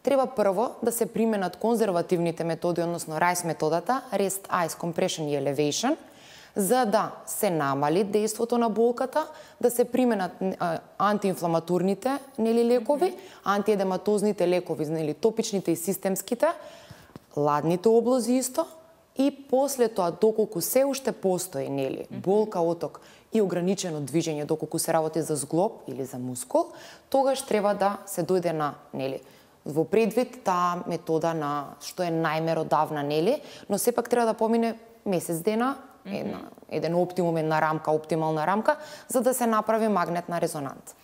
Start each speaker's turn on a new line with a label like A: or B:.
A: треба прво да се применат конзервативните методи, односно RICE методата, Rest, Ice, Compression и Elevation, за да се намали дејството на болката, да се применат антиинфламатурните лекови, антиедематозните лекови, топичните и системските, ладните облози исто, и после тоа, доколку се уште постои болка, оток и ограничено движење, доколку се работи за зглоб или за мускул, тогаш треба да се дојде на во предвид таа метода на што е најмеродавна, но сепак треба да помине месец дена, еден оптимум, една рамка, оптимална рамка, за да се направи магнетна резонанца.